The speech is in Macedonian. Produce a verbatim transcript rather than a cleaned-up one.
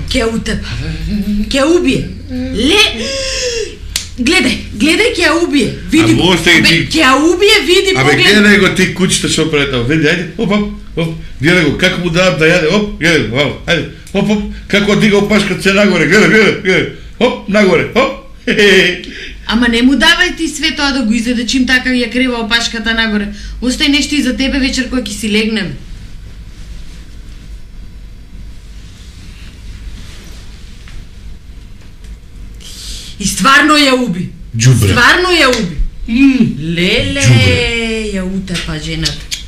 Ке утепа. Ке убие. Ле... Гледај, гледај, ќе ја убие. Види го. Ќе ја убие, види, поглед. Абе, гледај го ти кучето што претава. Види, ајде, оп, оп, оп. Гледај го, како му давам да јаде, оп, гледај го, ајде, оп, оп. Како дига опашката се нагоре, гледај, гледај, гледај. Оп, нагоре, оп. Ама не му давај ти све тоа да го изеде, чим така ја крева опашката нагоре. Остај нешто и за тебе вечер кој ќе си легнеме. И стварно ја уби. Джубре. Стварно ја уби. Mm. Леле, Джубре. Ја утепа жената.